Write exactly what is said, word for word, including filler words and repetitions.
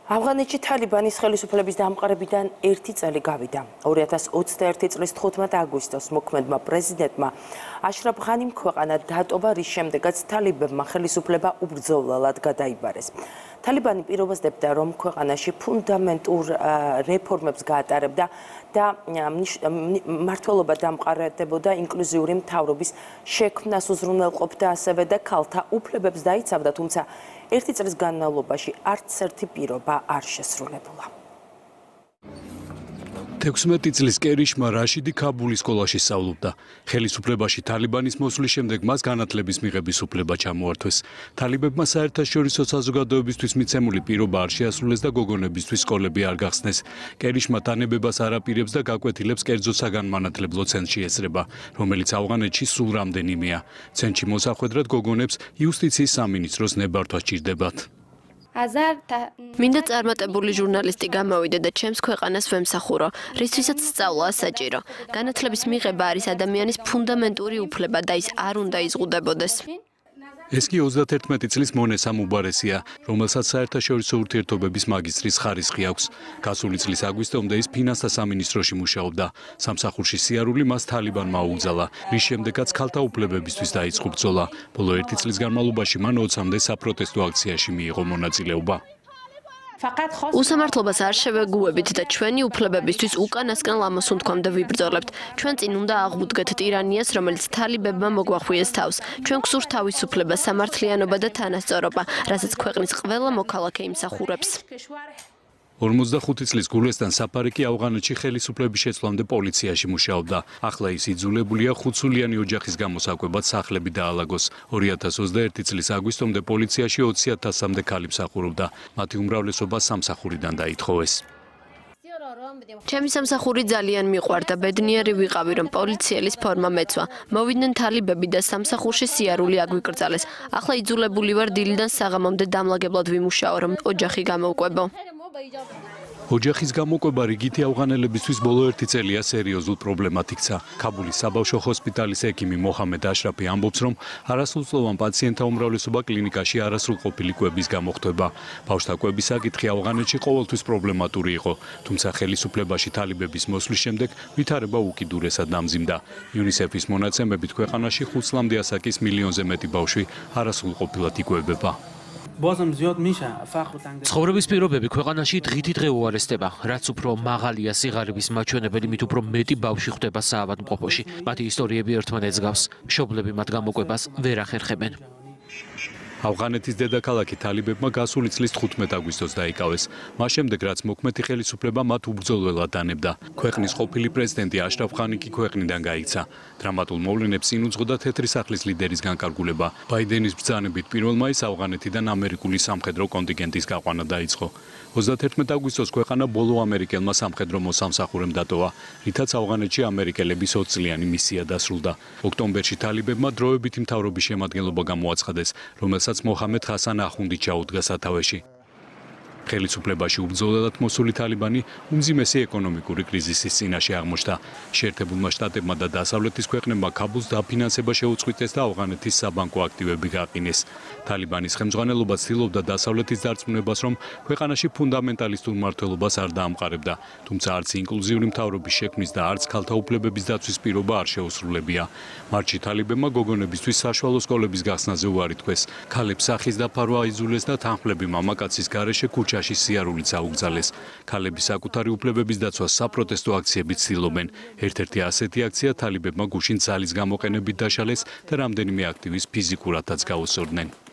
ავღანეთში თალიბანის ხელისუფლების დამყარებიდან ერთი წელი გავიდა. ორი ათას ოცდაერთი წლის თხუთმეტი აგვისტოს მოქმედმა პრეზიდენტმა აშრაფ ღანიმ ქვეყანა დატოვა, რის შემდეგაც თალიბებმა ხელისუფლება უბრძოლველად გადაიბარეს. თალიბანი პირობდებდა, რომ ქვეყანაში ფუნდამენტურ რეფორმებს გაატარებდა და მმართველობა დამყარებდა ინკლუზიური მთავრობის შექმნას უზრუნველყოფდა, ასევე და ქალთა უფლებებს დაიცავდა, თუმცა ერთი წლის განმავლობაში არც ერთი პირობა არ შესრულებულა. თექვსმეტი წლის კერიშმა რაშიდი ქაბულის სკოლაში სწავლობდა. ხელისუფლებაში თალიბანის მოსვლის შემდეგ მას განათლების მიღების უფლება ჩამოართვეს. თალიბებმა საერთაშორისო საზოგადოებისთვის მიცემული პირობა არ შეასრულეს და გოგონებისთვის სკოლები არ გახსნეს. კერიშმა თანებებას არ აპირებს და გაკვეთილებს კერძო საგანმანათლებლო ცენტრში ესწრება, რომელიც ავღანეთში სულ რამდენიმეა. ცენტრში მოსახვედრად გოგონებს იუსტიციის სამინისტროს ნებართვა სჭირდებათ. მინდა წარმატებული ჟურნალისტი გამოვიდე და ჩემს ქვეყანას ვემსახურო, რისთვისაც სწავლაა საჭირო. განათლების მიღება არის ადამიანის ფუნდამენტური უფლება და ის არ უნდა იზღუდებოდეს. ეს კი ოცდათერთმეტი წლის მონე სამუბარესია, რომელსაც საერთაშორისო ურთიერთობების მაგისტრის ხარისხი აქვს. გასული წლის აგვისტომდე ის ფინანსთა სამინისტროში მუშაობდა. სამსახურში სიარული მას თალიბანმა აუგზალა, რის შემდეგაც ქალთა უფლებებისთვის დაიწყო ბრძოლა. ბოლო ერთი წლის განმავლობაში მან ოცამდე საპროტესტო აქციაში მიიღო მონაწილეობა. უსამართლობას არ შევეგუებით და ჩვენი უფლებებისთვის უკანასკნელ ამოსუნთქვამდე ვიბრძოლებთ. ჩვენ წინ უნდა აღვუდგეთ ტირანიას, რომელიც თალიბებმა მოგვახვიეს თავს. ჩვენ გსურთ თავისუფლება, სამართლიანობა და თანასწორობა, რასაც ქვეყნის ყველა მოქალაქე იმსახურებს. ორმოცდახუთი წლის გულესტან საფარი კი ავღანეთში ხელისუფლების შეცვლამდე პოლიციაში მუშაობდა. ახლა ის იძულებულია ხუთსულიანი ოჯახის გამოსაკვებად სახლები დაალაგოს. ორი ათას ოცდაერთი წლის აგვისტომდე პოლიციაში ოცი ათასამდე ქალი მსახურობდა. მათი უმრავლესობა სამსახურიდან დაითხოვეს. ჩემი სამსახური ძალიან მიყვარდა, ბედნიერი ვიყავი, რომ პოლიციელის ფორმა მეცვა. მოვიდნენ თალიბები და სამსახურში სიარული აგვიკრძალეს. ახლა იძულებული ვარ დილიდან საღამომდე დამლაგებლად ვიმუშაო, რომ ოჯახი გამოვკვებო. ოჯახის გამოკვება რიგითი ავღანელებისთვის ბოლო ერთი წელია სერიოზულ პრობლემად იქცა. ქაბულის საბავშვო ჰოსპიტალის ექიმი მოჰამედ აშრაფი ამბობს, რომ არასრულწლოვან პაციენტთა უმრავლესობა კლინიკაში არასრულყოფილი კვების გამო ხდება. ბავშვთა კვების საკითხი ავღანეთში ყოველთვის პრობლემატური იყო, თუმცა ხელისუფლებაში თალიბების მოსვლის შემდეგ ვითარება უკიდურესად დამძიმდა. იუნისეფის მონაცემებით ქვეყანაში ხუთ წლამდე ასაკის მილიონზე მეტი ბავშვი არასრულყოფილად იკვებება. ცხოვრების პირობები ქვეყანაში დღითი დღე უარესდება. რაც უფრო მაღალია სიღარიბის მაჩვენებელი, მით უფრო მეტი ბავშვი ხვდება საავადმყოფოში. მათი ისტორიები ერთმანეთს გავს. მშობლები მათ გამოკვებას ვერ ახერხებენ. ავღანეთის დედაქალაქი თალიბებმა გასული წლის თხუთმეტი აგვისტოს დაიკავეს. მას შემდეგ, რაც მოქმედი ხელისუფლება მათ უბრძოლველად დანებდა. ქვეყნის ყოფილი პრეზიდენტი აშრაფ ღანი კი ქვეყნიდან გაიქცა. დრამატულ მოვლენებს წინ უძღოდა თეთრი სახლის ლიდერის განკარგულება. ბაიდენის ბრძანებით პირველ მაისს ავღანეთიდან ამერიკული სამხედრო კონტინგენტის გაყვანა დაიწყო. ოცდათერთმეტი აგვისტოს ქვეყანა ბოლო ამერიკელმა სამხედრო მოსამსახურემ დატოვა, რითაც ავღანეთში ამერიკელების ოცწლიანი მისია დასრულდა. ოქტომბერში თალიბებმა დროებითი მთავრობის შემადგენლობა გამოაცხადეს, რომელსაც მოჰამედ ხასან ახუნდი ჩაუდგა სათავეში. ხელისუფლებაში უბრძოლელად მოსული თალიბანი უმძიმესი ეკონომიკური კრიზისის წინაშე აღმოჩნდა. შეერთებულმა შტატებმა და დასავლეთის ქვეყნებმა ქაბულს დაფინანსება შეუწყვიტეს და ავღანეთის საბანკო აქტივები გაყინეს. თალიბანის ხელმძღვანელობა ცდილობდა დასავლეთის დარწმუნებას, რომ ქვეყანაში ფუნდამენტალისტურ მმართველობას არ დაამყარებდა, თუმცა არც ინკლუზიური მთავრობის შექმნის და არც ქალთა უფლებების დაცვის პირობა არ შეუსრულებია. მარტში თალიბებმა გოგონებისთვის საშუალო სკოლების გახსნაზე უარი თქვეს. ქალებს სახის დაფარვა აიძულეს და თანხმლები მამაკაცის გარეშე ქუჩაში სიარულიც აუგზალეს. ქალების საკუთარი უფლებების დაცვას საპროტესტო აქციებით ცდილობენ. ერთ-ერთი ასეთი აქცია თალიბებმა გუშინ ძალის გამოყენებით დაშალეს და რამდენიმე აქტივის ფიზიკურადაც გაუსწორდნენ.